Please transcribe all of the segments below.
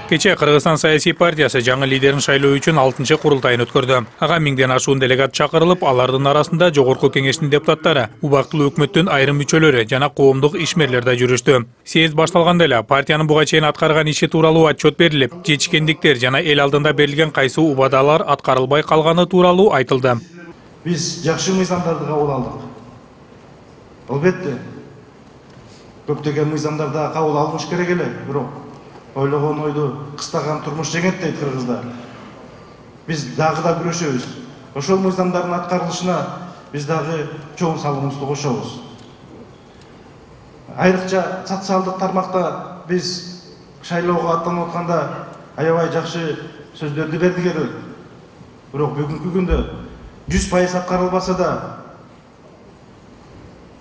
Кече Кыргызстан саясий партиясы жаңы лидерин шайлоо үчүн 6-чы курултайын өткөрдү. Ага 1000ден ашуун делегат чакырылып, алардын арасында Жогорку Кеңештин депутаттары, убактылуу өкмөттүн айрым мүчөлөрү жана коомдук ишмерлер да жүрүштү. Съезд башталганда эле партиянын буга чейин аткарган иши тууралуу отчет берилип, жетишкендиктер жана эл алдында берилген кайсы убадалар аткарылбай калганы тууралуу айтылды. Биз жакшы мыйзамдарды кабыл алдык. Албетте, көптөгөн мыйзамдарды кабыл алыныш керек эле, бирок ойлогон ойду кыстаган турмуш жеңет дейт кыргыздар. Биз дагы да күрөшөбүз. Ошол мыйзамдардын аткарылышына биз дагы чоң салымыбызды кошобуз. Айрыкча социалдык тармакта биз шайлоого аттанып атканда аябай жакшы сөздөрдү бердик эле. Бирок бүгүнкү күндө 100% аткарылбаса да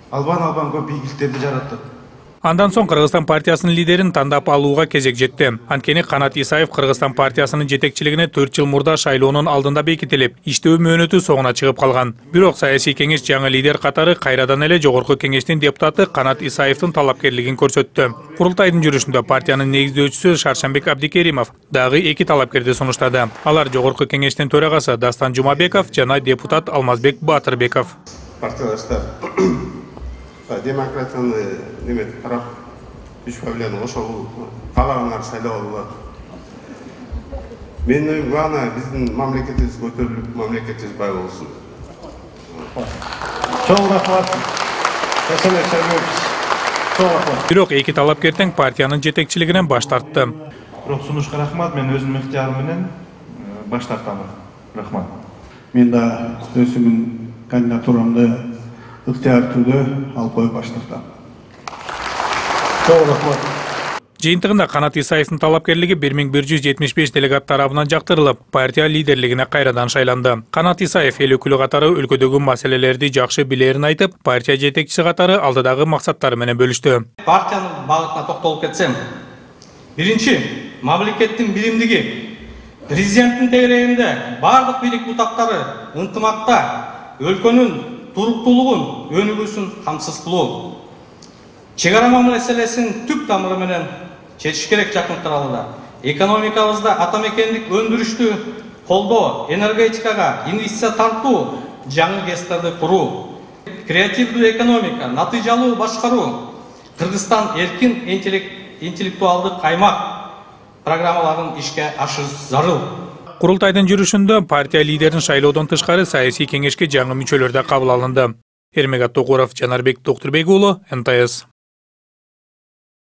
албан көп ийгиликтерди жараттык. Андан соң Кыргызстан партиясынын лидерин тандап алууга кезек жетти. Анткени Канат Исаев Кыргызстан партиясынын жетекчилигине 4 жыл мурда шайлоонун алдында бекитилип, иштөө мөөнөтү соңуна чыгып калган. Бирок саясий кеңеш жаңы лидер катары кайрадан эле Жогорку Кеңештин депутаты Канат Исаевдин талапкерлигин көрсөттү. Курултайдын жүрүшүндө партиянын негиздөөчүсү Шаршанбек Абдикеримов дагы 2 талапкерди сунуштады. Алар Жогорку Кеңештин төрагасы Дастан Жумабеков жана депутат Алмазбек Батырбеков. Партиялаштар демократияны неметип карап, 3%-ны ошол каалагандар шайлоо болот. Менин оюм главное биздин мамлекетибиз көтөрүлүп, мамлекетибиз бай болсун. Чоң рахмат. Бирок 2 талапкер тең партиянын жетекчилигинен баш тартты. Бирок сунушка рахмат, мен өзүмдүн ыктыярым менен баш тартам. Рахмат. Мен да өзүмдүн кандидатурамды ыктыяр түрдө алып коюп баш тартам. Чоң рахмат. Жыйынтыгында Канат Исаевдин талапкерлиги 1175 делегат тарабынан жактырылып, партия лидерлигине кайрадан шайланды. Канат Исаев эл өкүлү катары өлкөдөгү маселелерди жакшы билерин айтып, партия жетекчиси катары алдыдагы максаттары менен бөлүштү. Партиянын багытына токтолуп кетсем, биринчи, мамлекеттин биримдиги, президенттин тегерегинде бардык бийлик бутактары ынтымакта өлкөнүн туруктуулугун, өнүгүүсүн камсыз кылуу. Чек ара маселесин түп тамыры менен чечиш керек жакын аралыда. Экономикабызда атамекендик өндүрүштү колдоо, энергетикага инвестиция тартуу, жаңы ГЭСтерди куруу, креативдүү экономика, натыйжалуу башкаруу, Кыргызстан эркин интеллектуалдык аймак программаларын ишке ашырыш зарыл. Курултайдын жүрүшүндө партия лидерин шайлоодон тышкары саясий кеңешке жаңы мүчөлөр да кабыл алынды. Эрмегат Токуров, Жанарбек Доктурбек уулу, НТС.